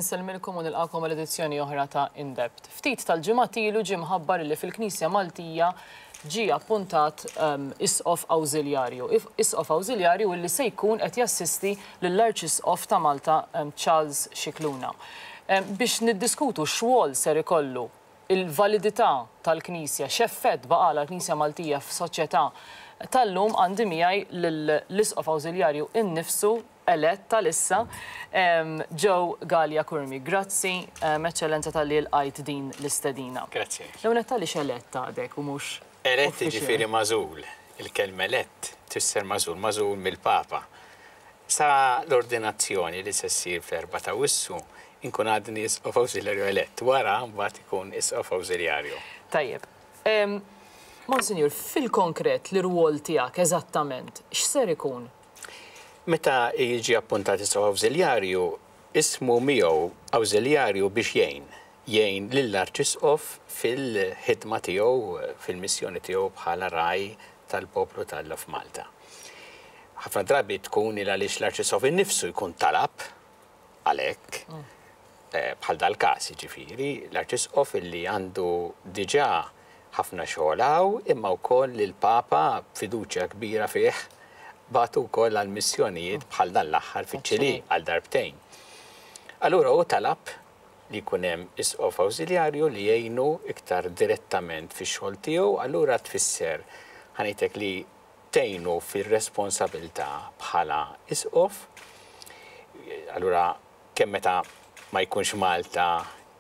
Insellmilkom u nilqagħkom għal edizzjoni oħra ta' In Depth. Ftit tal-ġimgħat ilu ġie mħabbar li fil-Knisja Maltija ġie appuntat Isqof Awżiljarju. Isqof Awżiljarju illi se jkun qed jassisti lill-Arċisqof ta' Malta Charles Scicluna. Biex niddiskutu x'rwol ser ikollu il-validità tal-Knisja, x'effett baqgħalha l-Knisja Maltija f'soċjetà tal-lum għandi miegħi lill-Isqof Awżiljarju innifsu elett għalissa, Joe Galea Curmi. Grazzi, Eċċellenza talli lqajt din l-istedina. Grazzi. L-ewwel nett għaliex elett għadek u mhux Elett jiġifieri magħżul. Il-kelma elett tfisser magħżul, magħżul mill-Papa. Sa l-ordinazzjoni li se ssir fl-erbgħa ta' Awwissu inkun għadni Isqof Awżiljarju elett. Wara mbagħad ikun Isqof Awżiljarju. Tajjeb. Monsinjur, fil-konkret l-irwol tiegħek eżattament x'ser ikun? Meta jiġi appuntat Isqof Awżiljarju, ismu miegħu awżiljarju biex jgħin, jgħin lill-Arċisqof fil-ħidma tiegħu, fil-missjoni tiegħu bħala ragħaj tal-poplu t'Alla f'Malta. Ħafna drabi tkun il għaliex l-Arċisqof innifsu jkun talab għal hekk, bħal dal-każ, jiġifieri, l-Arċisqof illi għandu diġà ħafna xogħol hawn, imma wkoll li l-Papa b'fiduċja kbira fih bagħtu wkoll għal missjonijiet bħal dan l-aħħar fiċ-Ċilì għal darbtejn. Allura hu talab li jkun hemm isqof awżiljarju li jgħinu iktar direttament fix-xogħol tiegħu, allura tfisser, ħa ngħidlek li tgħinu fir-responsabilità bħala isqof, allura kemm meta ma jkunx Malta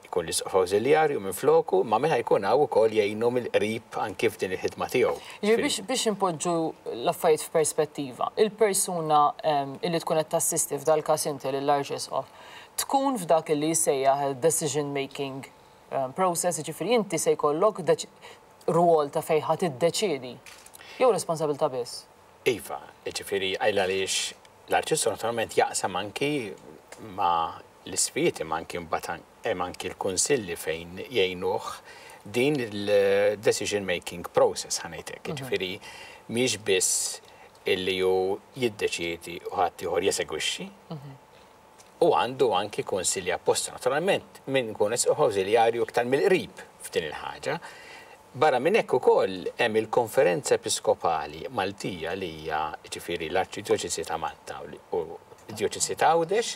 jkun l-Isqof Awżiljarju minfloku, imma meta jkun hawn ukoll jgħinu mill-qrib anki f'din il-ħidma tiegħu. Jiġifieri biex biex inpoġġu l-affarijiet f'perspettiva, il-persuna illi tkun qed tassisti f'dal-każ inti lill-Arċisqof, tkun f'dak illi jissejjaħ decision making process, jiġifieri inti se jkollok rwol ta' fejn ħa tiddeċiedi jew responsabilità biss? Iva, jiġifieri għaliex l-Arċisqof naturalment jaqsam anki ma' l-isqfijiet imma anki mbagħad hemm anki l-kunsilli fejn jgħinuh din il-decision making process ħa ngħid hekk. Jiġifieri mhix biss illi hu jiddeċiedi u ħaddieħor jesegwixxi. U għandu anki kunsilli apposta. Naturalment min ikun isqof awżiljarju iktar mill-qrib f'din il-ħaġa. Barra minn hekk ukoll hemm il-Konferenza Episkopali Maltija li hija jiġifieri l-Arċidjoċesi ta' Malta u d-Djoċesi ta' Għawdex,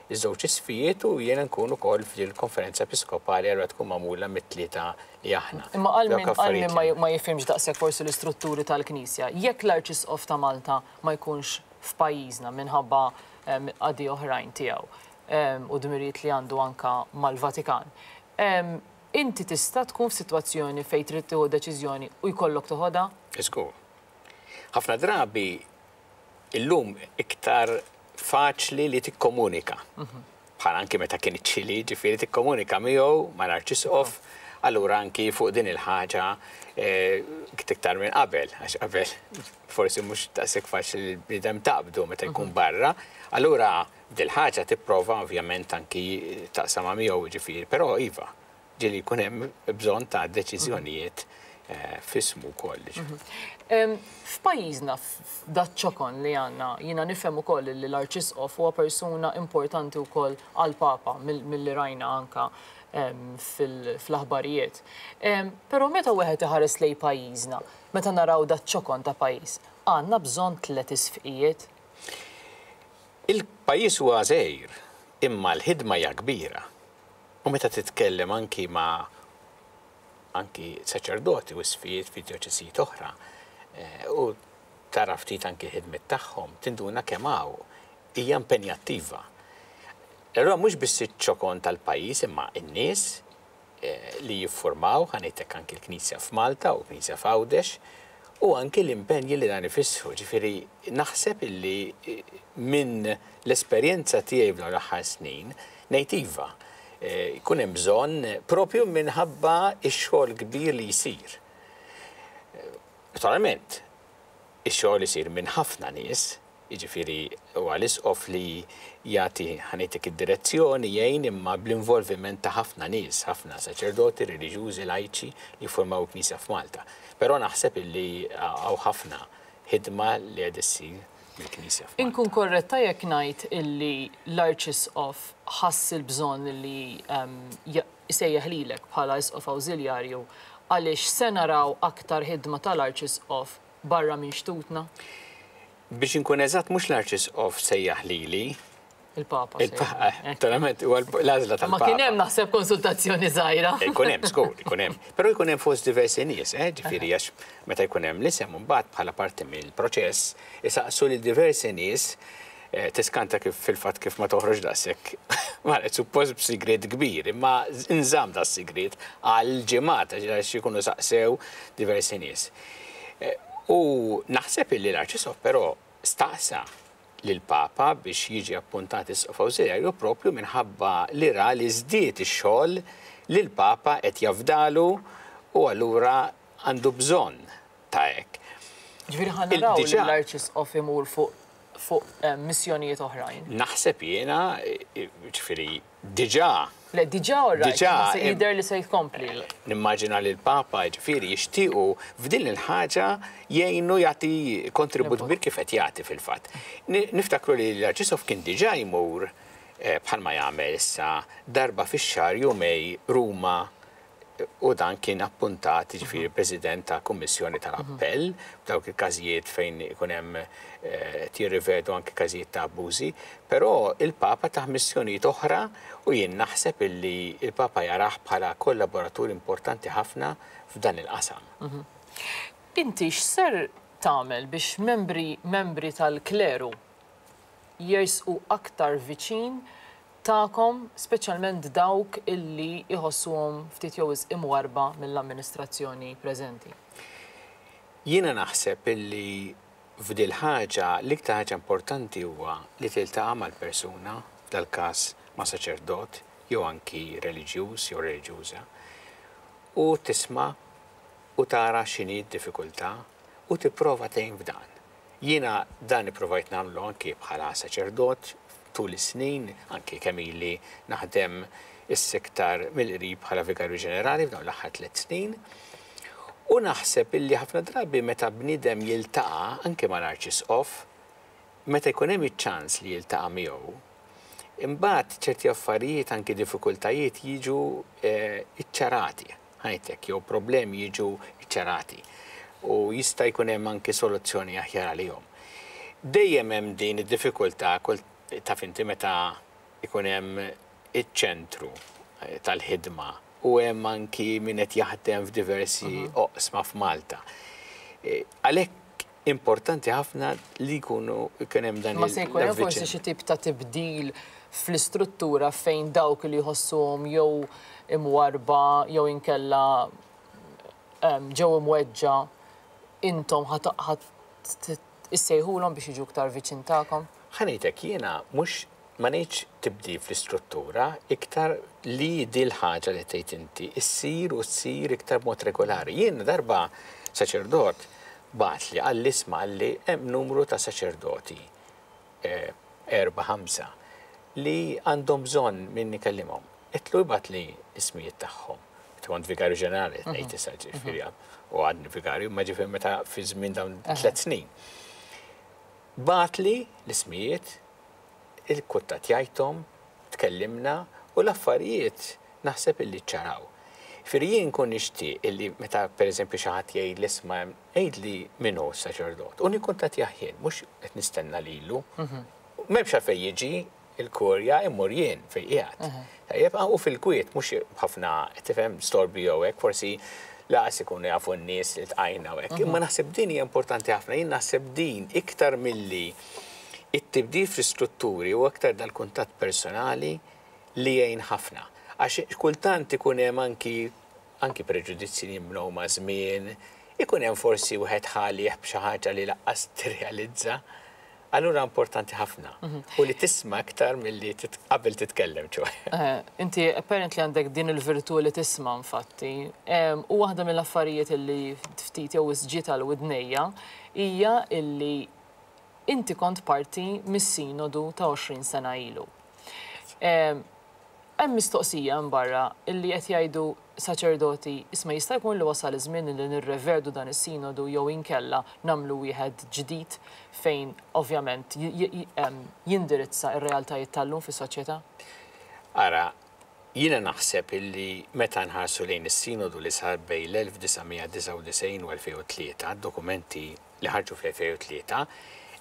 iż-żewġ isqfijiet u jiena nkun ukoll f'din il-Konferenza Episkopali allura tkun magħmula mit-tlieta li aħna. Imma għal min għal min ma jifhimx daqshekk forsi l-istrutturi tal-Knisja, jekk l-Arċisqof ta' Malta ma jkunx f'pajjiżna minħabba qadi oħrajn tiegħu u dmirijiet li għandu anke mal-Vatikan, Inti tista' tkun f'sitwazzjoni fejn trid tieħu deċiżjoni u jkollok toħodha? Żgur. Ħafna drabi illum iktar faċli li tikkomunika. Bħal anki meta kien iċ-Ċili, ġifieri tikkomunika miegħu mal-Arċisqof, allura anki fuq din il-ħaġa iktar minn qabel, għax qabel forsi mhux daqshekk faċli li l-bniedem taqbdu meta jkun barra, allura Dil-ħaġa tipprova ovvjament anki taqsamha miegħu jiġifieri, però iva, ġieli jkun hemm bżonn ta' deċiżjonijiet f'ismu wkoll. F'pajjiżna, f'daċ-ċokon li għandna, jiena nifhem ukoll li l-Arċisqof huwa persuna importanti wkoll għall-Papa milli rajna anke fl-aħbarijiet. Però meta wieħed iħares lejn pajjiżna, meta naraw daċ-ċokon ta' pajjiż, għandna bżonn tlett isfqijiet? Il-pajjiż huwa żgħir, imma l-ħidma hija kbira. U meta titkellem anki ma' anki saċerdoti u isqfijiet fi djoċesijiet oħra, u tara ftit anki l-ħidmiet tagħhom, tinduna kemm hawn hija impenjattiva. Allura mhux biss iċ-ċokon tal-pajjiż imma n-nies, li jiffurmaw, ħa ngħid hekk anki l-Knisja f'Malta u l-Knisja f'Għawdex, u anki l-impenji li dan ifissru. Ġifieri naħseb illi minn l-esperjenza tiegħi f'dawn l-aħħar snin ngħid iva, jkun hemm bżonn propju minħabba x-xogħol kbir li jsir. Naturalment, ix-xogħol isir minn ħafna nies, Jiġifieri huwa l-Isqof li jagħti, ħa ngħidlek, id-direzzjoni, jgħin imma bl-involviment ta' ħafna nies, ħafna saċerdoti, reliġjużi, lajċi li jiffurmaw il-Knisja f'Malta. Però naħseb illi hawn ħafna ħidma li qed issir. mill-Knisja f'Malta. Inkun korretta jekk ngħid illi l-Arċisqof ħass il-bżonn li jsejjaħ lilek bħala Isqof Awżiljarju għaliex se naraw aktar ħidma tal-Arċisqof barra minn xtutna? Biex inkun eżatt mhux l-Arċisqof sejjaħ lili. Il-Papa. Il-Papa, naturalment, huwa l-għażla tal-Papa. Ma kien hemm naħseb konsultazzjoni żgħira. Ikun hemm, żgur, ikun hemm. Però jkun hemm fost diversi nies, eh, ġifieri għax meta jkun hemm l-isem imbagħad bħala parti mill-proċess isaqsu lil diversi nies eh, tiskanta kif fil-fatt kif ma toħroġ daqshekk. Ma suppost b'sigriet kbir, imma nżamm da sigriet għal ġimgħat għax ikunu saqsew diversi nies. Eh, u naħseb illi l-Arċisqof però staqsa lill-Papa biex jiġi appuntat Isqof Awżiljarju propju minħabba li ra li żdied ix-xogħol li l-Papa qed jafdalu u allura għandu bżonn ta' hekk. Ġifieri ħa naraw lill-Arċisqof imur fuq fuq missjonijiet oħrajn. Naħseb jiena, ġifieri diġà. Le, diġà all right, imma se jidher li se jkompli. Nimmaġina li l-Papa, jiġifieri, jixtiequ f'din il-ħaġa jgħinu jagħti kontribut kbir kif qed jagħti fil-fatt. Niftakru li l-Arċisqof kien diġà jmur bħalma jagħmel issa darba fix-xahar jumej Ruma u dan kien appuntat jiġifieri President ta' Kummissjoni tal-Appell f'dawk il-każijiet fejn ikun hemm qed jirrivedu anke każijiet ta' abbużi, però il-Papa tah missjonijiet oħra u jien naħseb illi l-Papa jarah bħala kollaboratur importanti ħafna f'dan il-qasam. Inti x'ser tagħmel biex membri membri tal-kleru jersqu aktar viċin tagħkom, speċjalment dawk illi jħossuhom ftit jew wisq imwarrba mill-amministrazzjoni preżenti? Jiena naħseb illi f'dil-ħaġa l-iktar ħaġa importanti huwa li tiltaqa' mal-persuna, f'dal-każ ma' saċerdot jew anki reliġjuż jew reliġjuża, u tisma' u tara x'inhi d-diffikultà u tipprova tgħin f'dan. Jiena dan ippruvajt nagħmlu anki bħala saċerdot tul is-snin, anki kemm ili naħdem issa iktar mill-qrib bħala Vigarju Ġenerali f'dawn l-aħħar tlett snin. U naħseb illi ħafna drabi meta bniedem jiltaqa' anki mal-Arċisqof, meta jkun hemm iċ-ċans li jiltaqa' miegħu, imbagħad ċerti affarijiet anki diffikultajiet jiġu ċċarati. Ngħid hekk, jew problemi jiġu ċċarati u jista' jkun hemm anki soluzzjoni aħjar għalihom. Dejjem hemm din id-diffikultà kull taf inti meta jkun hemm iċ-ċentru tal-ħidma u hemm anki min qed jaħdem f'diversi oqsma f'Malta. Għalhekk importanti ħafna li jkunu jkun hemm dan Ma se jkun hemm forsi xi tip ta' tibdil fl-istruttura fejn dawk li jħossuhom jew imwarrba jew inkella ġew imweġġa' intom ħa issejħulhom biex jiġu iktar viċin tagħkom? Ħa ngħid hekk, jiena mhux Ma ngħidx tibdil fl-istruttura, iktar li dil-ħaġa li tgħid inti issir u ssir iktar b'mod regolari. Jien darba saċerdot bagħatli qalli isma' qalli hemm numru ta' saċerdoti, erbgħa ħamsa, li għandhom bżonn min ikellimhom. Għedtlu ibgħatli l-ismijiet tagħhom. Meta kont vigarju ġenerali qed ngħid issa ġifieri u għadni vigarju, imma ġifieri meta fi żmien dawn tliet snin. Bagħatli l-ismijiet Ikkuntattjajthom, tkellimna u l-affarijiet naħseb illi ċċaraw. Jiġifieri jien nkun nixtieq illi meta pereżempju xi ħadd jgħidli isma' għidli min hu s-saċerdot u nikkuntattjah jien, mhux qed nistenna lilu. M'hemmx għalfejn jiġi l-kurja immur jien fejn qiegħed. Tajjeb, u fil-kwiet mhux b'ħafna tifhem storbju jew hekk, forsi lanqas ikunu jafu n-nies li ltqajna u hekk. Imma naħseb din hija importanti ħafna, jien naħseb din iktar milli It-tibdil fl-istrutturi huwa aktar dal-kuntatt personali li jgħin ħafna. Għax kultant ikun hemm anki anki preġudizzji li jinbnew maż-żmien, ikun hemm forsi wieħed ħa għalih b'xi ħaġa li lanqas tirrealizza. Allura importanti ħafna. U li tisma' iktar milli qabel titkellem, ċoe. Inti apparently għandek din il-virtù li tisma' infatti. U waħda mill-affarijiet illi ftit jew wisq ġiet għal widnejja hija illi Inti kont parti mis-Sinodu ta' 20 sena ilu. Hemm mistoqsija hemm barra illi qed jgħidu saċerdoti, isma' jista' jkun li wasal iż-żmien illi nirrevedu dan is-sinodu jew inkella nagħmlu wieħed ġdid fejn ovvjament jindirizza r-realtajiet tal-lum fis-soċjetà? Ara, jiena naħseb illi meta nħarsu lejn is-sinodu li sar bejn l-1999 u 2003, d-dokumenti li ħarġu fl-2003,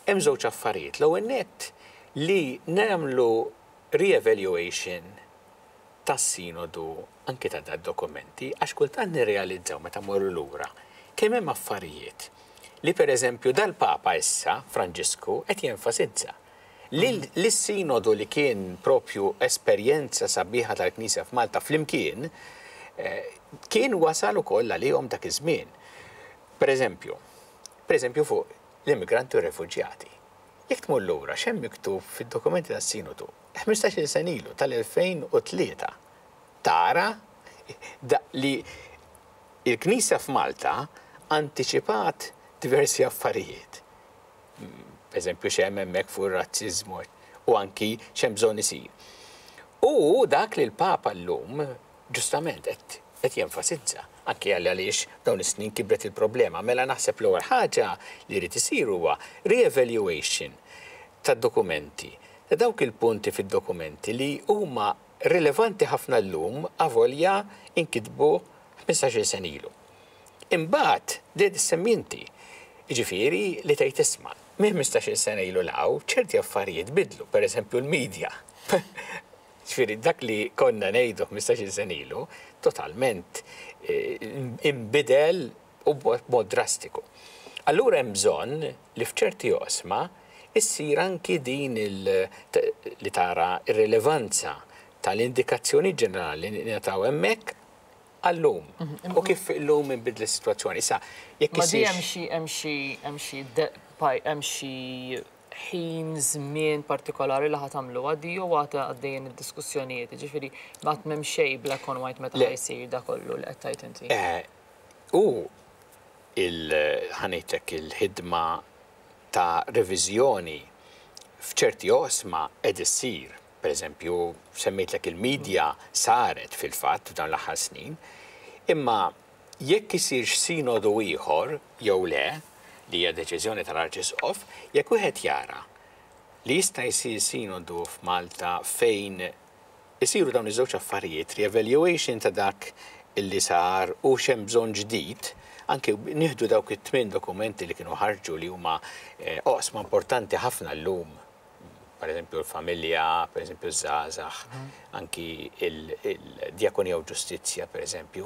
hemm żewġ affarijiet. L-ewwel nett li nagħmlu re-evaluation tas-Sinodu anki ta' dad-dokumenti għax kultant nirrealizzaw meta mmorru lura kemm hemm affarijiet li pereżempju dal-Papa issa, Franġisku, qed jenfasizza. Li s-Sinodu li kien propju esperjenza sabiħa tal-Knisja f'Malta flimkien kien wasal ukoll għalihom dak iż-żmien. Pereżempju, pereżempju fuq l-immigranti u r-refuġjati. Jekk tmur lura x'hemm miktub fid-dokumenti tas-Sinodu ħmistax-il sena ilu, tal-2003, tara li l-Knisja f'Malta antiċipat diversi affarijiet. Pereżempju x'hemm hemmhekk fuq ir-razziżmu u anki x'hemm bżonn isir. U dak li l-Papa llum ġustament qed qed jenfasizza, anki għaliex f'dawn is-snin kibret il-problema. Mela naħseb l-ewwel ħaġa li jrid isir huwa re-evaluation tad-dokumenti, ta' dawk il-punti fid-dokumenti li huma rilevanti ħafna llum avolja nkitbu ħmistax-il sena ilu. Imbagħad li qed issemmi inti, jiġifieri li tgħid isma' minn ħmistax-il sena ilu 'l hawn ċerti affarijiet tbiddlu, pereżempju l-media. Ġifieri dak li konna ngħidu 15-il sena ilu totalment inbidel u b'mod drastiku. Allura hemm bżonn li f'ċerti oqsma issir anki din li tara r-rilevanza tal-indikazzjonijiet ġenerali li ngħataw hemmhekk għal-lum. U kif illum inbidlet is-sitwazzjoni. Issa, jekk issir. Ma di hemm xi hemm xi hemm xi hemm xi ħin, żmien partikolari li ħa tagħmluha di jew għad għaddejjin id-diskussjonijiet, jiġifieri għad m'hemm xejn black on white meta ħa jsir da kollu li qed tgħid inti? U il, ħa ngħidlek, il-ħidma ta' reviżjoni f'ċerti oqsma qed issir. Per eżempju, semmejtlek il-media saret fil-fatt f'dawn l-aħħar snin, imma Jekk isirx sinodu ieħor jew le, li hija deċiżjoni tal-Arċisqof, jekk wieħed jara li jista' jsir sinodu f'Malta fejn isiru dawn iż-żewġ affarijiet, re-evaluation ta' dak li sar u x'hemm bżonn ġdid, anke nieħdu dawk it-tmien dokumenti li kienu ħarġu li huma oqsma importanti ħafna llum per eżempju l-familja, per eżempju ż-żgħażagħ, anki il-djakonija u ġustizzja, per eżempju.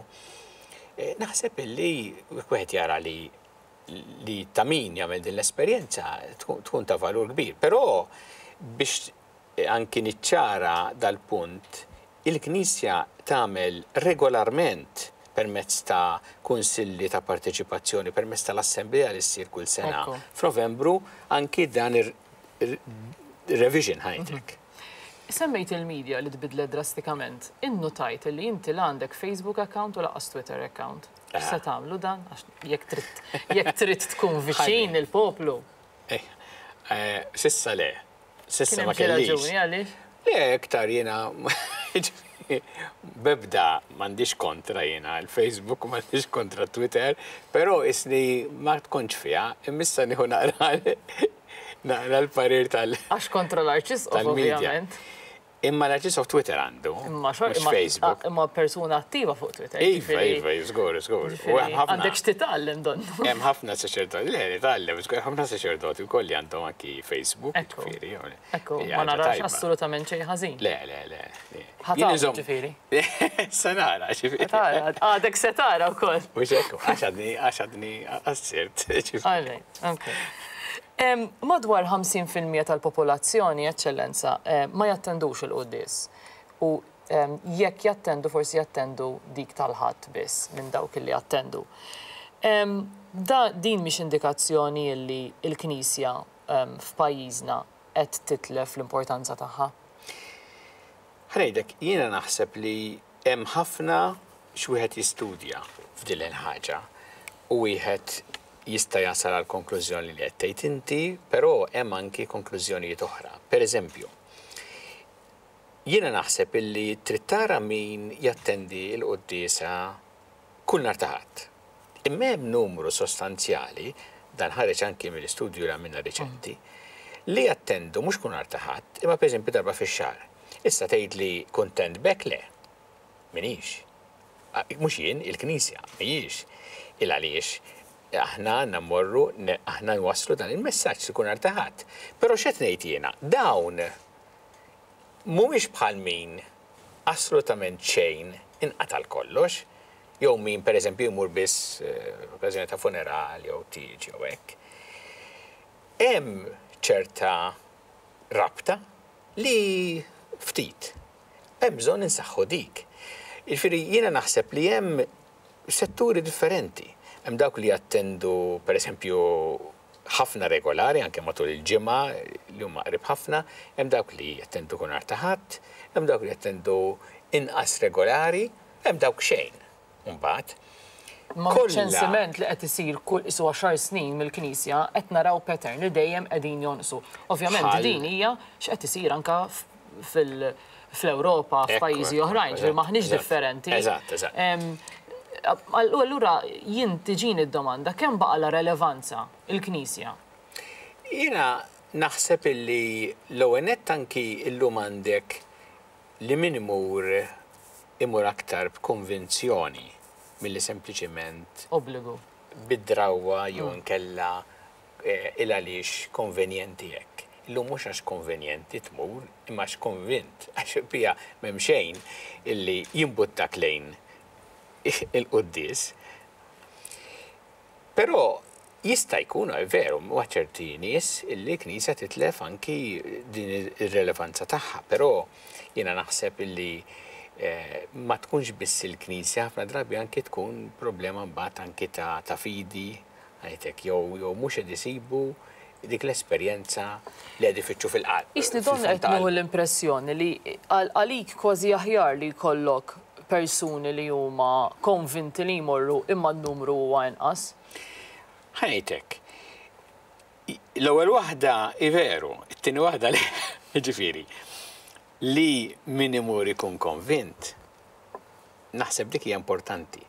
Eh, naħseb illi wieħed jara li li ta' min jagħmel din l-esperjenza tkun ta' valur kbir. Però biex anki niċċara dal-punt, il-Knisja tagħmel regolarment permezz ta' kunsilli ta' parteċipazzjoni, permezz tal-assemblea li ssir kull sena f'Novembru, anki dan ir-revision ħajtek. Semmejt il-media li tbiddlet drastikament. Innutajt li inti la għandek Facebook account u lanqas Twitter account. X'se tagħmlu dan? Għax jekk trid jekk trid tkun viċin il-poplu. S'issa le. S'issa ma Kien hemm xi kellix. raġuni għaliex? Le, iktar jiena b'ebda m'għandix kontra jiena l-Facebook u m'għandix kontra Twitter, però isni ma tkontx fiha, imma issa nieħu naqra naqra l-parir tal Għax kontra l-Arċisqof tal-media. ovvjament. Imma l-Arċisqof Twitter għandu, Imma xor, mhux imma, Facebook. imma persuna attiva fuq Twitter. Iva, jiġifieri- iva, żgur, żgur. U hemm jiġifieri ħafna. Għandek x'titgħallem donnu. Hemm ħafna saċerdoti, le, nitgħallem, żgur, ħafna saċerdoti wkoll li għandhom anki Facebook, Ekku. jiġifieri, jew- Ekku, hija ma ħaġa narax tajba. assolutament xejn ħażin. Le, le, le. le. Ħa Jien tagħmel, inżomm- ġifieri. Se nara, ġifieri. Tara, għadek se tara wkoll. Mhux hekk, għax għadni, għax għadni qassirt, ġifieri. All right, okay. Madwar 50% tal-popolazzjoni, Eċċellenza, ma jattendux il-quddies. U jekk jattendu forsi jattendu dik tal-Ħadd biss minn dawk li jattendu. Da din mhix indikazzjoni li l-Knisja f'pajjiżna qed titlef l-importanza tagħha? Ħa ngħidlek, jiena naħseb li hemm ħafna x'wieħed jistudja f'din il-ħaġa u wieħed jista' jasal għall-konklużjoni li qed tgħid inti, però hemm anki konklużjonijiet oħra. Per eżempju, Jiena naħseb illi trid tara min jattendi l-quddiesa kull nhar ta' Ħadd. Imma hemm numru sostanzjali, dan ħareġ anki mill-istudju li għamilna riċenti, li jattendu mhux kull nhar ta' Ħadd, imma pereżempju darba fix-xahar. Issa tgħidli kuntent b'hekk? Le. M'iniex. Mhux jien, il-Knisja mhijiex. Il għaliex aħna għandna mmorru, aħna nwasslu dan il-messaġġ li kull nhar ta' Ħadd. Però x'qed ngħid jiena? Dawn mhumiex bħal min assolutament xejn inqata' l-kollox, jew min pereżempju jmur biss f'okkażjoni ta' funeral jew tieġ jew hekk. Hemm ċerta rabta li ftit. Hemm bżonn insaħħu dik. Jiġifieri jiena naħseb li hemm setturi differenti. Hemm dawk li jattendu pereżempju ħafna regolari anke matul il-ġimgħa li huma qrib ħafna, hemm dawk li jattendu kull nhar ta' Ħadd, hemm dawk li jattendu inqas regolari, hemm dawk xejn imbagħad. Imma miċ-ċensiment li qed isir kull qisu għaxar snin mill-Knisja qed naraw pattern li dejjem qegħdin jonqsu. Ovvjament din hija x'qed isir anke fl-Ewropa, f'pajjiżi oħrajn, ġifieri m'aħniex differenti. Eżatt, eżatt. Allura jien tiġini d-domanda kemm baqgħalha relevanza l-Knisja? Jiena naħseb illi l-ewwel nett anki llum għandek li min imur imur aktar b'konvinzjoni milli sempliċiment Obbligu. bid-drawwa jew inkella il għaliex konvenjenti hekk. Illum mhux għax konvenjenti tmur, imma għax konvint, għax bija m'hemm xejn illi jimbuttak lejn il-quddies. Però jista' jkun, è veru, ma' ċerti nies illi l-Knisja titlef anki din ir-relevanza tagħha, però jiena naħseb illi ma tkunx biss il-Knisja, ħafna drabi anki tkun problema mbagħad anki ta' fidi, ngħidlek, jew mhux qed isibu dik l-esperjenza li qed ifittxu fil-qalb. Qisni donnha qed nieħu l-impressjoni li għalik kważi aħjar li jkollok persuni li huma konvinti li jmorru imma n-numru huwa inqas. Ħa ngħid hekk. L-ewwel waħda hi veru, it-tieni waħda le. Jiġifieri, li min imur ikun konvint, naħseb dik hija importanti.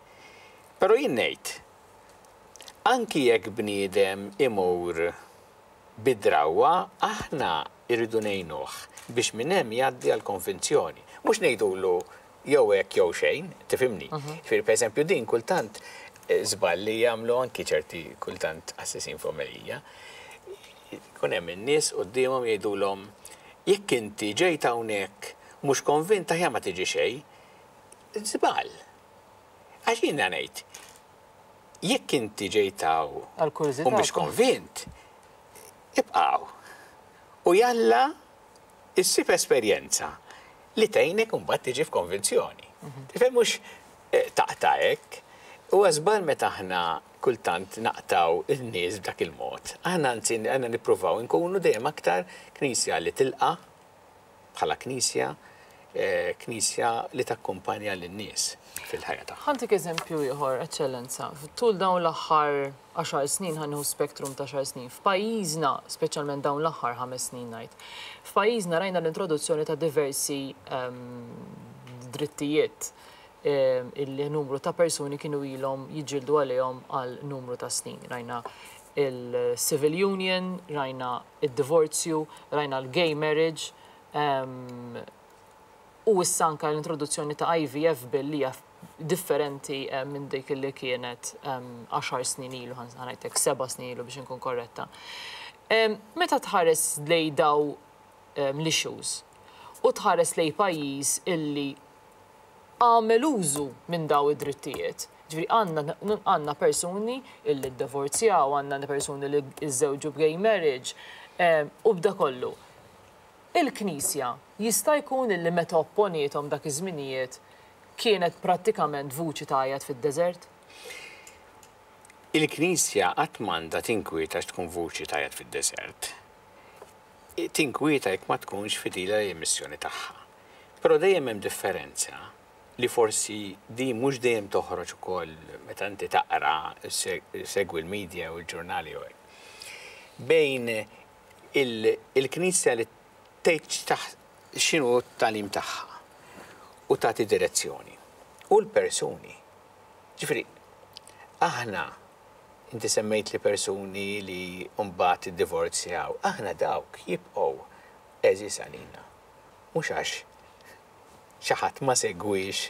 Però jien ngħid, Anki jekk bniedem imur bi drawwa, aħna rridu ngħinuh biex minn hemm jgħaddi għall-konvinzjoni. Mhux ngħidulu jew hekk jew xejn, tifhimni? Jiġifieri pereżempju din kultant żball li jagħmlu anki ċerti kultant qassisin f'omelija. Ikun hemm in-nies quddiemhom jgħidulhom jekk inti ġejt hawnhekk mhux konvint aħjar ma tiġi xejn. Żball. Għax jiena ngħid, jekk inti ġejt hawn u mhix konvint, ibqa' hawn. U jalla issib esperjenza li tgħinek imbagħad tiġi f'konvinzjoni. Tifhem mhux taqta' hekk. Huwa żball meta aħna kultant naqtgħu n-nies b'dak il-mod. Aħna anzi għandna nippruvaw inkunu dejjem aktar Knisja li tilqa' bħala Knisja, Knisja li takkumpanja lin-nies fil-ħajja tagħhom. Ħa ntik eżempju ieħor, Eċċellenza. Tul dawn l-aħħar għaxar snin, ħa nieħu spektrum ta' għaxar snin, f'pajjiżna, speċjalment dawn l-aħħar ħames snin ngħid, f'pajjiżna rajna l-introduzzjoni ta' diversi drittijiet illi numru ta' persuni kienu ilhom jiġġieldu għalihom għal numru ta' snin. Rajna il-civil union, rajna id-divorzju, rajna l-gay marriage, u issa anke l-introduzzjoni ta' IVF bill li hija differenti minn dik li kienet għaxar snin ilu, ħa ngħidlek seba' snin ilu biex inkun korretta. Meta tħares lejn daw l-issues u tħares lejn pajjiż illi għamel użu minn daw id-drittijiet, ġifieri għandna għandna persuni illi ddivorzjaw, għandna persuni li żżewġu b'gay marriage, u b'da kollu. Il-Knisja jista' jkun illi meta opponiethom dak iż-żminijiet kienet prattikament vuċi tgħajjat fid-deżert? Il-Knisja qatt m'għandha tinkwieta għax tkun vuċi tgħajjat fid-deżert. Tinkwieta jekk ma tkunx fidila lill-missjoni tagħha. Però dejjem hemm differenza li forsi din mhux dejjem toħroġ ukoll meta inti taqra, ssegwi l-media u l-ġurnali jew hekk. Bejn il-Knisja li tgħid x'inhu t-tagħlim tagħha u tagħti direzzjoni. U l-persuni. Ġifieri, aħna, inti semmejt li persuni li mbagħad iddivorzjaw, aħna dawk jibqgħu għeżież għalina. Mhux għax xi ħadd ma segwiex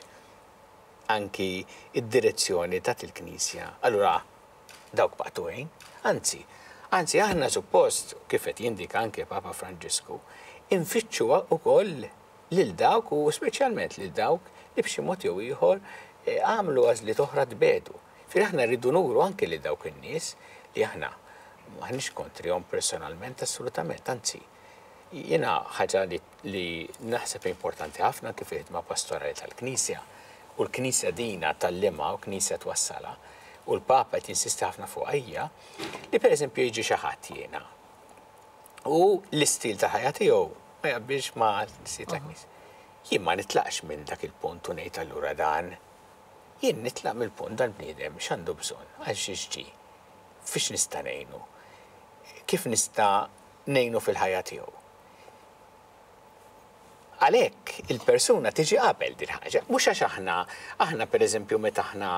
anki d-direzzjoni tat il-Knisja, allura dawk maqtugħin. Anzi, anzi aħna suppost, kif qed jindika anke Papa Franġisku, infittxu wkoll lil dawk u speċjalment lil dawk li b'xi mod jew ieħor għamlu għażliet oħra tbiegħdu. Ġifieri aħna rridu nuru anke lil dawk in-nies li aħna m'aħniex kontrihom personalment assolutament, anzi jiena ħaġa li li naħseb importanti ħafna anke fil-ħidma pastorali tal-Knisja u l-Knisja dina tgħallimha u l-Knisja twassalha u l-Papa qed jinsisti ħafna fuqha hija li pereżempju jiġi xi ħadd jiena u l-istil ta' ħajja tiegħu ma jaqbilx ma' l-istil tal-Knisja. Jien ma nitlaqx minn dak il-punt u ngħid allura dan. Jien nitlaq mill-punt dal-bniedem x'għandu bżonn, għal xiex ġie, fiex nista' ngħinu, kif nista' ngħinu fil-ħajja tiegħu. Għalhekk il-persuna tiġi qabel din ħaġa, mhux għax aħna, aħna pereżempju meta aħna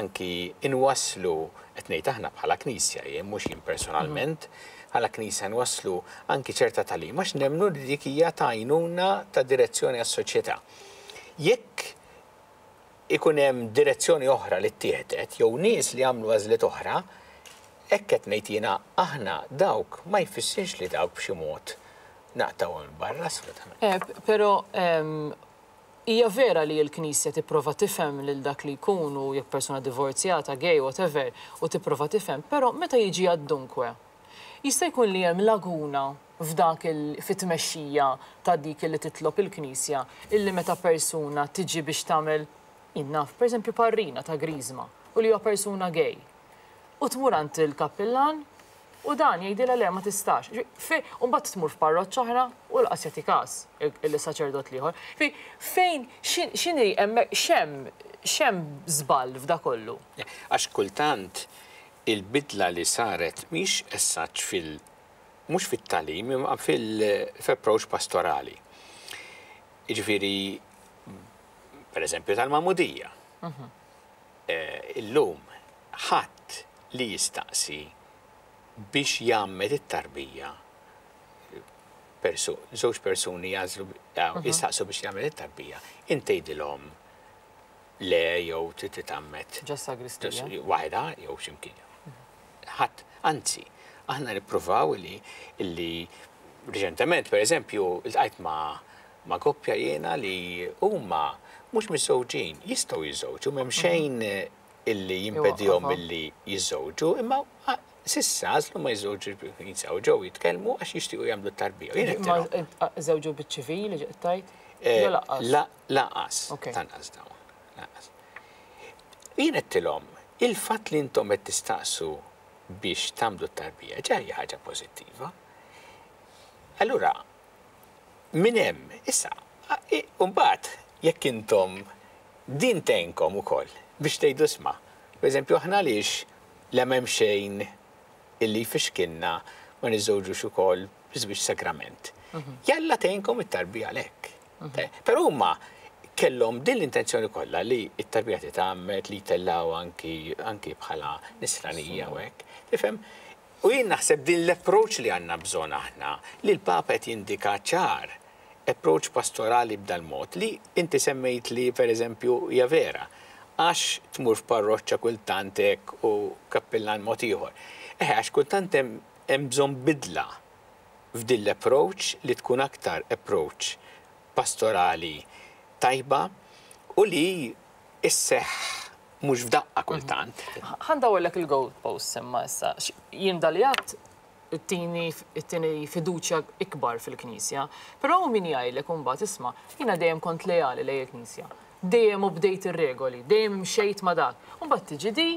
anki inwasslu, qed ngħid aħna bħala Knisja jien mhux jien personalment, bħala Knisja nwasslu anki ċerta tagħlim għax nemmnu li dik hija ta' għajnuna ta' direzzjoni għas-soċjetà. Jekk ikun hemm direzzjoni oħra li ttieħdet jew nies li għamlu għażliet oħra, hekk qed ngħid jiena aħna dawk ma jfissirx li dawk b'xi mod naqtgħuhom 'il barra assolutament. Eh, però hija vera li l-Knisja tipprova tifhem lil dak li jkun u jekk persuna divorzjata, gay, whatever, u tipprova tifhem, però meta jiġi għad-dunque, jista' jkun li hemm laguna f'dak il fit-tmexxija ta' dik li titlob il-Knisja illi meta persuna tiġi biex tagħmel, jien naf, pereżempju parrina ta' griżma u li huwa persuna gay u tmur għand il-kappillan u dan jgħidilha le ma tistax. U mbagħad tmur f'parroċċa oħra u lanqas jagħti każ il-saċerdot l-ieħor. Fejn x'inhi hemmhekk x'hemm x'hemm żball f'da kollu? Għax kultant il-bidla li saret mhix as such fil mhux fit-tagħlim imma fil-approach pastorali. Jiġifieri pereżempju tal-magħmudija. Illum ħadd li jistaqsi biex jgħammed it-tarbija żewġ persuni jagħżlu jistaqsu biex jagħmel it-tarbija, int tgħidilhom le jew trid titgħammed. Ġo sagristija. Waħedha jew x'imkien. Ħadd, anzi, aħna nippruvaw li li riċentement pereżempju ltqajt ma' ma' koppja jiena li huma mhux miżżewġin, jistgħu jiżżewġu, m'hemm xejn illi jimpedihom milli jiżżewġu, imma s'issa għażlu ma jiżżewġux bil-Knisja u ġew jitkellmu għax jixtiequ jagħmlu t-tarbija. U jien għedtilhom. Imma żewġu biċ-ċivili qed tgħid? Jew lanqas? Lanqas, lanqas dawn, lanqas. Jien għedtilhom, il-fatt li intom qed tistaqsu biex tagħmlu t-tarbija ġa hija ħaġa pożittiva. Allura, minn hemm, issa, u mbagħad jekk intom din tgħinkom ukoll biex tgħidu isma', pereżempju aħna għaliex le m'hemm xejn illi jfixkilna ma niżżewġux ukoll biż-żwieġ sagrament. Jalla tgħinkom it-tarbija għalhekk. Però huma kellhom din l-intenzjoni kollha li t-tarbija titgħammed, li jtellgħuha anki anki bħala nisranija u hekk. Tifhem? U jien naħseb din l-approach li għandna bżonn aħna, li l-Papa qed jindika ċar, approach pastorali b'dal-mod li inti semmejt li per eżempju hija vera, għax tmur f'parroċċa kultant hekk u kappillan mod ieħor. Eħe għax kultant hemm hemm bżonn bidla f'din l-approach li tkun aktar approach pastorali tajba u li sseħħ mhux f'daqqa kultant. Ħa ndawwarlek il-goalposts imma issa. Jien dan li għedt ittini ittini fiduċja ikbar fil-Knisja. Però hawn min jgħidlek imbagħad isma' jiena dejjem kont leali lejn il-Knisja. Dejjem obdejt ir-regoli, dejjem imxejt ma' dak. U mbagħad tiġi di,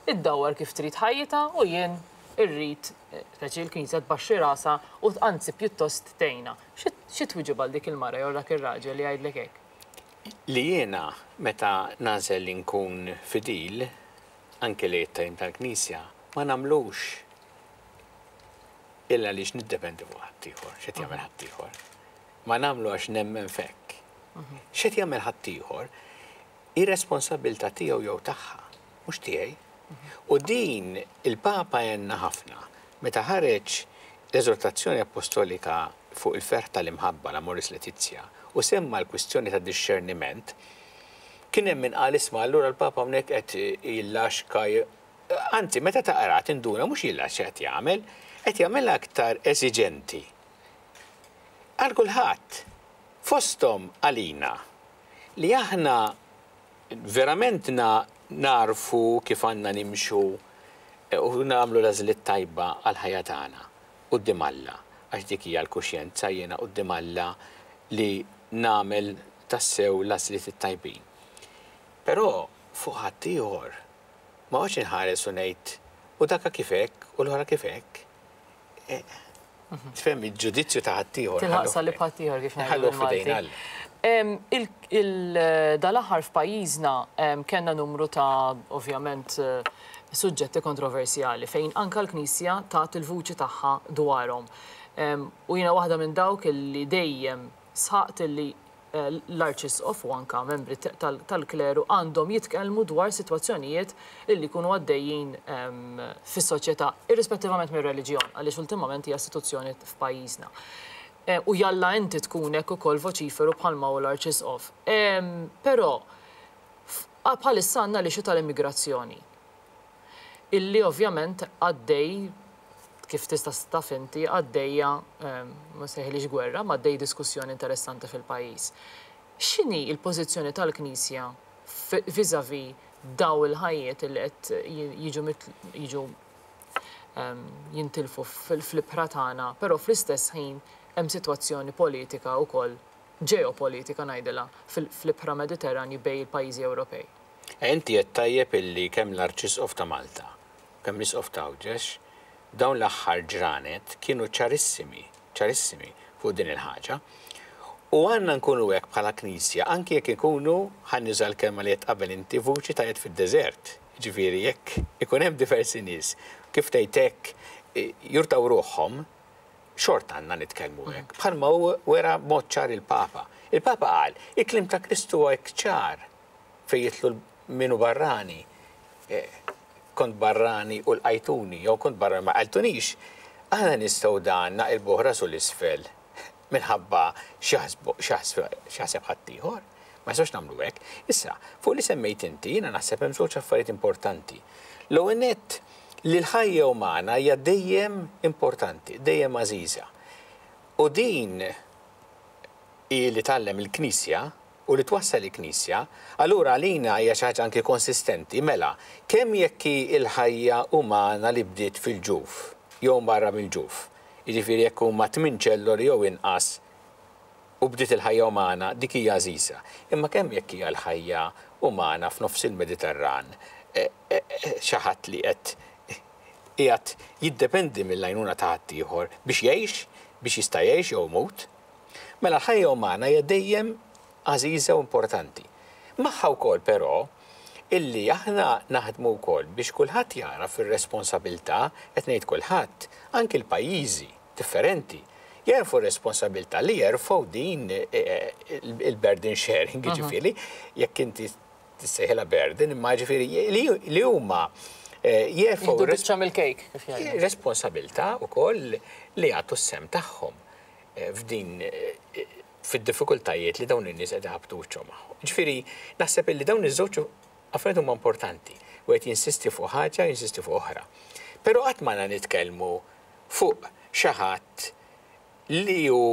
iddawwar kif trid ħajjitha u jien irrid, speċi l-Knisja tbaxxi rasha u anzi pjuttost tgħinha. Xi twieġeb għal dik il-mara jew dak ir-raġel li jgħidlek hekk? Li jiena meta nagħżel li nkun fidil, anke lejn it-tagħlim tal-Knisja, ma nagħmlux illa għaliex niddependi fuq ħaddieħor, x'qed jagħmel ħaddieħor. Ma nagħmlu għax nemmen f'hekk. X'qed jagħmel ħaddieħor hi responsabbiltà tiegħu jew tagħha, mhux tiegħi. U din il-Papa għenna ħafna meta ħareġ l-eżortazzjoni appostolika fuq il-ferħ tal-imħabba, l-Amoris Laetitia, u semma l-kwistjoni ta' dixxerniment, kien hemm min qal isma' allura l-Papa hawnhekk qed jillaxka Anzi, meta taqra tinduna mhux jillaxka qed jagħmel, qed jagħmilha aktar esiġenti għal kulħadd, fosthom għalina, li aħna verament nagħrfu kif għandna nimxu u nagħmlu l-għażliet tajba għall-ħajja tagħna quddiem Alla, għax dik hija l-kuxjenza jiena quddiem Alla li nagħmel tassew l-għażliet it-tajbin. Però fuq ħaddieħor ma noqgħodx inħares u ngħid u daka kif hekk u l-oħra kif hekk. Tifhem il-ġudizzju ta' ħaddieħor. Tilħaq salib ħaddieħor kif ngħidu bil-Malti. Dal-aħħar f'pajjiżna kellna numru ta' ovvjament suġġetti kontroversjali fejn anke l-Knisja tat il-vuċi tagħha dwarhom. U jiena waħda minn dawk li dejjem sħaqt illi l-Arċisqof u anke membri tal-kleru għandhom jitkellmu dwar sitwazzjonijiet li jkunu għaddejjin fis-soċjetà, irrispettivament mir-reliġjon, għaliex ultimament hija istituzzjoni f'pajjiżna. U jalla inti tkun hekk ukoll voċiferu bħalma hu l-Arċisqof. Però bħalissa għandna l-issue tal-immigrazzjoni. Illi ovvjament għaddej, kif tista' taf inti, għaddejja, ma nsejħilhiex gwerra, imma għaddej diskussjoni interessanti fil-pajjiż. X'inhi l-pożizzjoni tal-Knisja vis-à-vis dawn il-ħajjiet illi qed jiġu jiġu jintilfu fl-ibħra tagħna, però fl-istess ħin hemm sitwazzjoni politika wkoll, ġeopolitika ngħidilha, fl-ibħra Mediterranji bejn il-pajjiżi Ewropej? Inti għedt tajjeb illi kemm l-Arċisqof ta' Malta u kemm l-Isqof ta' Għawdex dawn l-aħħar ġranet kienu ċarissimi, ċarissimi fuq din il-ħaġa. U għandna nkunu hekk bħala Knisja anki jekk ikunu, ħa nuża l-kelma li għedt qabel inti, vuċi ta' jedd fid-deżert. Jiġifieri jekk ikun hemm diversi nies, kif tgħid hekk, jurtaw ruħhom, xorta għandna nitkellmu hekk. Bħalma hu wera b'mod ċar il-Papa. Il-Papa qal, il-kliem ta' Kristu huwa hekk ċar. Fejn jidħlu min hu barrani, kont barrani u lqajtuni, jew kont barrani ma lqajtunix, aħna nistgħu dan naqilbuh rasu 'l isfel minħabba x'jaħseb ħaddieħor. Ma nistgħux nagħmlu hekk. Issa, fuq li semmejt inti, jiena naħseb hemm żewġ affarijiet importanti. L-ewwel nett li l-ħajja umana hija dejjem importanti, dejjem għażiża. U din hi li tgħallem il-Knisja u li twassal il-Knisja, allura għalina hija xi ħaġa anki konsistenti, mela, kemm jekk hi l-ħajja umana li bdiet fil-ġuf jew barra mill-ġuf, jiġifieri jekk huma tminn ċelloli jew inqas u bdiet il-ħajja umana, dik hija għażiża. Imma kemm jekk hija l-ħajja umana f'nofs il-Mediterran, xi ħadd li qed qiegħed jiddependi mill-għajnuna ta' ħaddieħor biex jgħix, biex jista' jgħix jew imut. Mela l-ħajja umana hija dejjem għażiża u importanti. Magħha wkoll però illi aħna naħdmu wkoll biex kulħadd jagħraf ir-responsabilità, qed ngħid kulħadd, anki l-pajjiżi differenti, jagħrfu r-responsabilità li jerfgħu din il-burden sharing, jiġifieri jekk inti tissejħilha burden, imma jiġifieri li huma jerfgħu. Jieħdu biċċa mill-kejk, kif jgħidu. Responsabilità wkoll li jagħtu s-sehem tagħhom. f'din fid-diffikultajiet li dawn in-nies qed iħabbtu wiċċhom magħhom. Ġifieri naħseb illi dawn iż-żewġ affarijiet huma importanti. Wieħed jinsisti fuq ħaġa, jinsisti fuq oħra. Però qatt m'għandna nitkellmu fuq xi ħadd li hu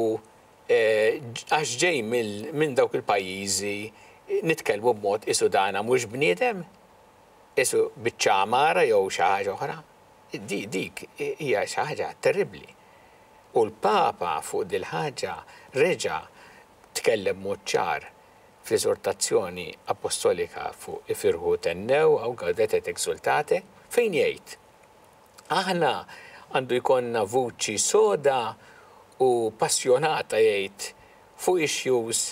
għax ġej minn dawk il-pajjiżi nitkellmu b'mod qisu dana mhux bniedem, qisu biċċa għamara jew xi ħaġa oħra. Dik hija xi ħaġa terribbli. U l-Papa fuq dil-ħaġa reġa' tkellem b'mod ċar fl-eżortazzjoni appostolika fuq Ifirħu u Thennew, hawn Gaudete et Exultate, fejn jgħid, Aħna għandu jkollna vuċi soda u passjonata jgħid fuq issues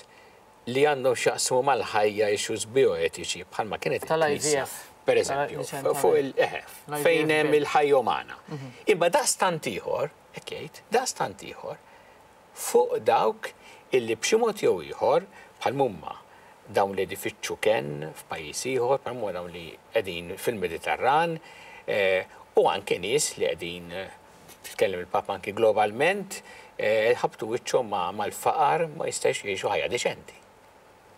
li għandhom x'jaqsmu mal-ħajja issues bioetiċi bħalma kienet il-Knisja. Per eżempju, fuq il eħe, fejn hemm il-ħajja umana. Imma daqstant ieħor, hekk jgħid, daqstant ieħor fuq dawk illi b'xi mod jew ieħor bħal mumma dawn li qed ifittxu kenn f'pajjiż ieħor, bħal mumma dawn li qegħdin fil-Mediterran, u anke nies li qegħdin, tkellem il-Papa anki globalment, ħabtu wiċċhom mal-faqar, ma jistax jgħixu ħajja deċenti.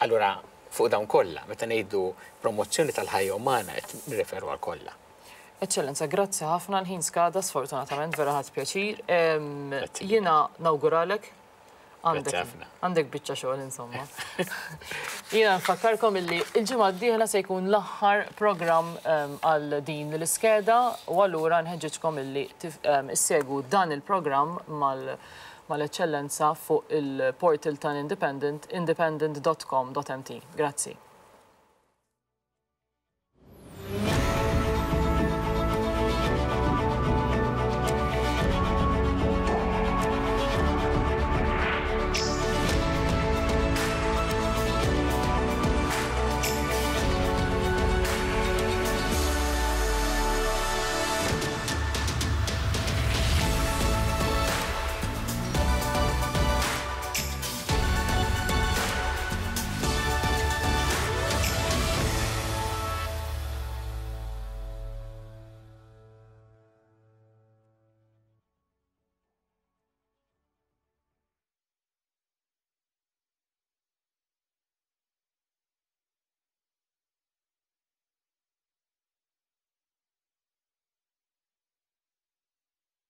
Allura fuq dawn kollha, meta ngħidu promozzjoni tal-ħajja umana qed nirreferu għal kollha. Eċċellenza, grazzi ħafna, l-ħin skada sfortunatament, vera ħadt pjaċir. Jiena nawguralek għandek biċċa xogħol insomma. Jiena nfakkarkom illi il-ġimgħa d-dieħla se jkun l-aħħar programm għal din l-iskeda u allura nħeġġeġkom illi issegwu dan il-programm mal-Eċċellenza fuq il-portal tal-Independent, independent.com.mt. Grazzi.